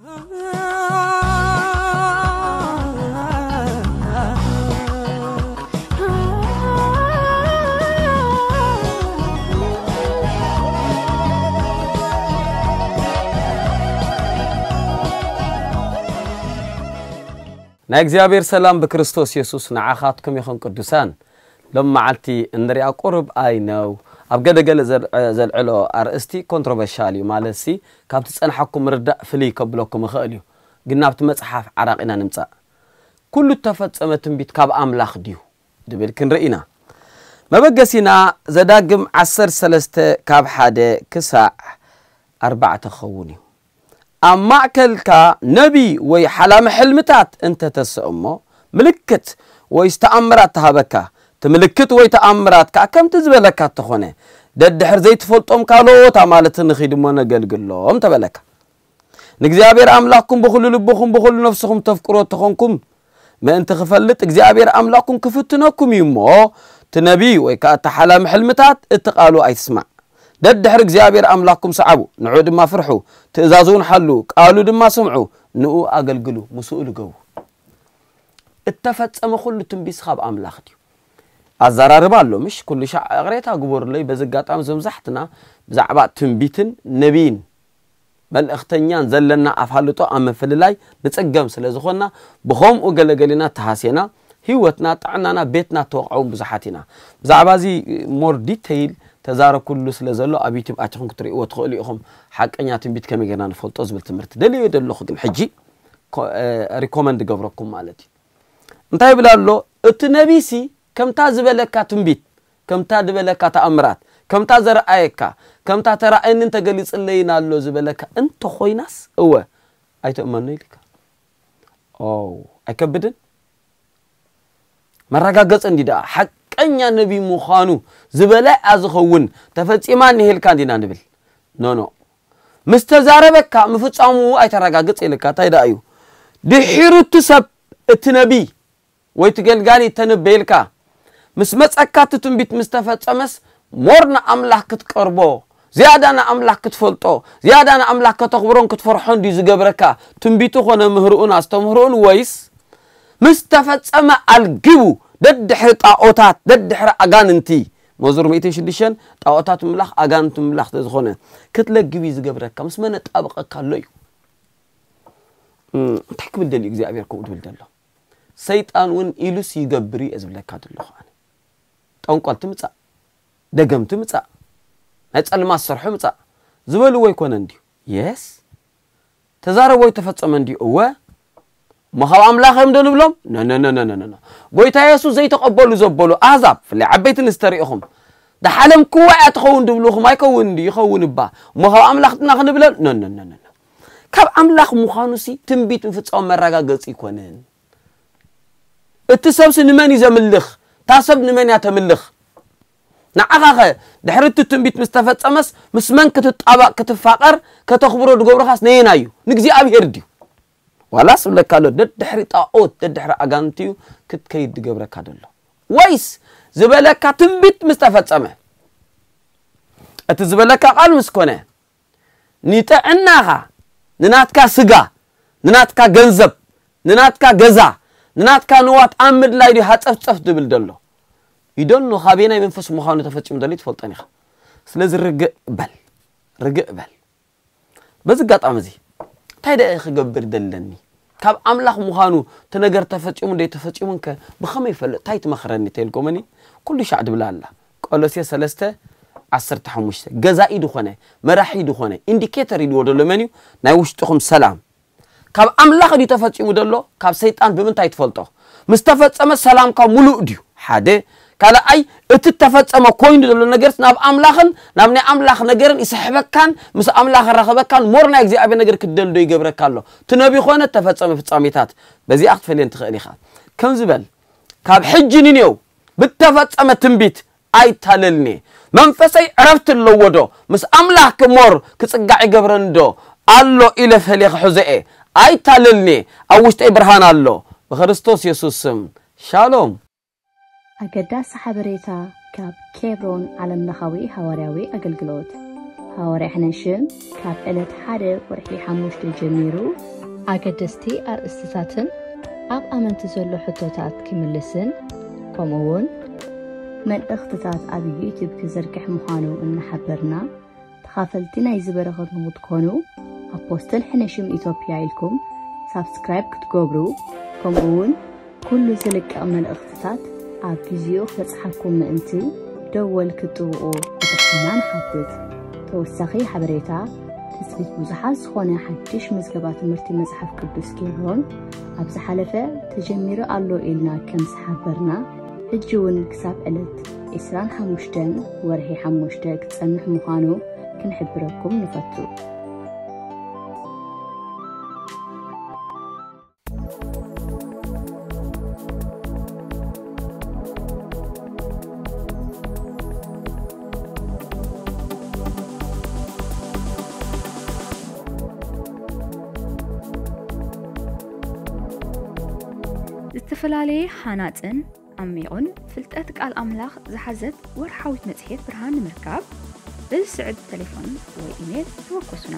ናይ እግዚኣብሔር ሰላም ብክርስቶስ የሱስ ንዓኻትኩም ይኹን ቅዱሳን። ሎም መዓልቲ እንሪኣ ቁሩብ ኣይነው ኣብ ገለገለ ዘልዕሎ ኣርእስቲ ኮንትሮቨርሻል እዩ። ማለትሲ ካብቲ ጸንሓኩም ምርዳእ ፍልይ ከብለኩም ይኽእል እዩ። ግን ናብቲ መጽሓፍ ዓራቒና ንምጻእ። ኩሉ እተፈጸመ ትንቢት ካብ ኣምላኽ ድዩ? ድብል ክንርኢ ኢና። መበገሲና ዘዳግም ዓሰርተ ሰለስተ ካብ ሓደ ክሳዕ ኣርባዕተ ክኸውን እዩ። ኣብ ማእከልካ ነቢ ወይ ሓላሚ ሕልምታት እንተተስእ እሞ ምልክት ወይ ተኣምራት ተሃበካ። እቲ ምልክት ወይ ተኣምራት ከኣ ከምቲ ዝበለካ እተኾነ ደድሕር ዘይትፈልጦም ካልኦት ኣማልቲ ንኺድ እሞ ነገልግሎም ተበለካ። ንእግዚኣብሔር ኣምላኽኩም ብኹሉ ልብኹም ብኹሉ ነፍስኹም ተፍቅሮ እተኾንኩም ምእንቲ ክፈልጥ እግዚኣብሔር ኣምላኽኩም ክፍትነኩም እዩ እሞ እቲ ነቢ ወይ ከኣ እቲ ሓላሚ ሕልምታት እቲ ቃሉ ኣይትስማዕ። ደድሕሪ እግዚኣብሔር ኣምላኽኩም ሰዓቡ፣ ንዑ ድማ ፍርሑ፣ ትእዛዙ እውን ሓሉ፣ ቃሉ ድማ ስምዑ፣ ንኡ ኣገልግሉ፣ ምስኡ ልገቡ። እተፈጸመ ኩሉ ትንቢት ካብ ኣምላኽ ድዩ? ኣዘራርባ ኣሎ ምሽ ኩሉ ሻዕ እቕሬታ ግበሩለይ። በዚ ኣጋጣሚ ዘምዛሕትና ብዛዕባ ትንቢትን ነቢይን መልእኽተኛን ዘለና ኣፋልጦ ኣብ ምፍልላይ ንጽገም ስለ ዝኾንና ብኸምኡ ገለገሊና ተሃሴና ህይወትና ጥዕናና ቤትና ተወቕዐውን ብዙሓት ኢና። ብዛዕባ እዚ ሞር ዲተይል ተዛረኩሉ ስለ ዘሎ ኣብ ዩቲብ ኣቲኹም ክትርእይዎ ትኽእሉ ኢኹም። ሓቀኛ ትንቢት ከመይ ጌርና ንፈልጦ ዝብል ትምህርቲ ደልዮ ደለኹ ግን ሕጂ ሪኮመንድ ገብረኩም ማለት እዩ። እንታይ ይብል ኣሎ? እቲ ነቢሲ ከምታ ዝበለካ ትንቢት፣ ከምታ ዝበለካ ተኣምራት፣ ከምታ ዘረኣየካ፣ ከምታ ተራእየንን ተገሊጽለይን ኣሎ ዝበለካ እንተኾይናስ፣ እወ፣ ኣይትእመኖ ኢልካ። ኦ፣ ኣይከብድን? መረጋገጺ እንዲ ደኣ ሓቀኛ ነቢ ምዃኑ ዝበለ ዝኸውን ተፈጺማ እኒሄልካ እንዲና ንብል። ኖ፣ ኖ። ምስ ተዛረበካ ምፍጻሙ ኣይተረጋግጽ ኢልካ። እንታይ ደኣ እዩ? ድሒሩ እቲ ሰብ፣ እቲ ነቢ ወይ እቲ ገልጋሊ ተነበየልካ ምስ መጸካ እቲ ትንቢት ምስ ተፈጸመስ ሞር ንኣምላኽ ክትቀርቦ ዝያዳ ንኣምላኽ ክትፈልጦ ዝያዳ ንኣምላኽ ከተኽብሮን ክትፈርሖን ድዩ ዝገብረካ ትንቢቱ ኾነ ምህርኡን ኣስተምህርኡን ወይስ ምስ ተፈጸመ ኣልጊቡ ደድሕሪ ጣኦታት ደድሕሪ ኣጋንንቲ መዝሙር ሚእትን ሽዱሽተን ጣኦታት ምምላኽ ኣጋንንቲ ምምላኽ ተዝኾነ ክትለግብ እዩ ዝገብረካ ምስ መነ ጣበቐካ ኣሎ እዩ እንታይ ክብል ደልዩ እግዚኣብሔር ከምኡ ትብል ዘሎ ሰይጣን እውን ኢሉስ ይገብር እዩ ዝብለካ ዘለኹ ኣነ። ጠንቆልቲ ምጻእ፣ ደገምቲ ምጻእ፣ ናይ ጸልማት ሰርሑ ምጻእ ዝበልዎ ኣይኮነን ድዩ? የስ ተዛረቦ ኣይተፈጸመን ድዩ? እወ እሞ ካብ ኣምላኽ እዮም ዶ ንብሎም? ነነነነነነ ጎይታ የሱስ ዘይተቐበሉ ዘበሉ ኣህዛብ ፍላይ ዓበይቲ ንስተሪኢኹም ደሓለም ክዋ እያ ትኸውን ድብልኹም ኣይከውን ድዩ? ይኸውን እባ እሞ ካብ ኣምላኽ ድና ክንብለል? ነነነነነ ካብ ኣምላኽ ምዃኑሲ ትንቢት ምፍጻሙ መረጋገጺ ኣይኮነን። እቲ ሰብሲ ንመን እዩ ዘምልኽ? እታ ሰብ ንመን እያ ተምልኽ? ንዓኻኸ ድሕሪ እቲ ትንቢት ምስ ተፈጸመስ ምስ መን ክትጣባቕ ክትፋቐር ከተኽብሮ ዝገብረኻስ ነየናይ እዩ? ንእግዚኣብሔር ድዩ? ዋላስ እብለካ ኣሎ ደድሕሪ ጣኦት ደድሕሪ ኣጋንንቲ እዩ ክትከይድ ዝገብረካ ዘሎ ወይስ ዝበለካ ትንቢት ምስ ተፈጸመ እቲ ዝበለካ ቃል ምስ ኮነ ንጥዕናኻ ንናትካ ስጋ ንናትካ ገንዘብ ንናትካ ገዛ ንናትካ ንዋት ኣብ ምድላይ ድዩ ሃፀፍፀፍ ዝብል ዘሎ ይደኖ ካበየናይ መንፈስ ምዃኑ ተፈፂሙ ዘሎ ትፈልጠን ኢኻ ስለዚ ርግእ በል ርግእ በል በዚ ኣጋጣሚ እዚ እንታይ ደኣ ክገብር ደለኒ ካብ ኣምላኽ ምዃኑ እቲ ነገር ተፈፂሙ ደይ ተፈፂሙን ከ ብኸመይ ይፈልጥ እንታይ ትመኽረኒ ተልኮመኒ ኩሉ ሻዕ ድብላ ኣላ ቆሎሴ ሰለስተ ዓሰርተ ሓሙሽተ ገዛኢ ዝኾነ መራሒ ዝኾነ ኢንዲኬተር ኢልዎ ደሎ መን እዩ ናይ ውሽጥኹም ሰላም ካብ ኣምላኽ ድዩ ተፈጺሙ ደሎ ካብ ሰይጣን ብምንታይ ትፈልጦ ምስ ተፈጸመ ሰላምካ ሙሉእ ድዩ ሓደ ካልኣይ እቲ ተፈጸመ ኮይኑ ዘሎ ነገርስ ናብ ኣምላኽን ናብ ናይ ኣምላኽ ነገርን ይስሕበካን ምስ ኣምላኽ ራኸበካን ሞር ናይ እግዚኣብሔር ነገር ክትደልዶ ይገብረካ ኣሎ እቲ ነቢ ኾነ ተፈጸመ ፍጻሜታት በዚኣ ክትፈልየን ትኽእል ኢኻ ከም ዝበል ካብ ሕጂ ንኔው ብተፈጸመ ትንቢት ኣይታለልኒ መንፈሰይ ዕረፍቲ ኣለዎ ዶ ምስ ኣምላኽ ክሞር ክጽጋዕ ይገብረኒ ዶ ኣሎ ኢለ ፈለ ክሕዞ እየ ኣይታለልኒ ኣብ ውሽጠይ ብርሃን ኣሎ ብክርስቶስ የሱስ ስም ሻሎም ኣገዳሲ ሓበሬታ ካብ ኬብሮን ዓለምለኻዊ ሃዋርያዊ ኣገልግሎት ሃዋርያ ሕነሽም ካብ ዕለት ሓደ ወርሒ ሓሙሽተ ጀሚሩ ኣገደስቲ ኣርእስትታትን ኣብ ኣመንቲ ዘሎ ሕቶታት ክምልስን ከምኡ እውን መልእኽትታት ኣብ ዩቲዩብ ክዘርግሕ ምዃኑ እናሓበርና ተኻፈልቲ ናይዚ በረኸት ንክትኮኑ ኣፖስትል ሕነሽም ኢትዮጵያ ኢልኩም ሳብስክራይብ ክትገብሩ ከምኡ እውን ኩሉ ዝልቀቕ መልእኽትታት ኣብ ግዜኡ ክበጽሓኩም ምእንቲ ደወል ክትጥውቑ ብትሕትና ንሓትት። ተወሳኺ ሓበሬታ ትጽቢት ብዙሓት ዝኾነ ሓድሽ ምዝገባ ትምህርቲ መጽሓፍ ቅዱስ ኬብሮን ኣብ ዝሓለፈ ተጀሚሩ ኣሎ ኢልና ከም ዝሓበርና ሕጂ እውን ክሳብ ዕለት ዕስራን ሓሙሽተን ወርሒ ሓሙሽተ ክጸንሕ ምዃኑ ክንሕብረኩም ንፈቱ። ዝተፈላለየ ሃናጽን ዓሚቑን ፍልጠት ቃል ኣምላኽ ዝሓዘት ወርሓዊት መጽሔት ብርሃን ንምርካብ በዚ ስዕብ ተሌፎን ወይ ኢሜል ተወከሱና።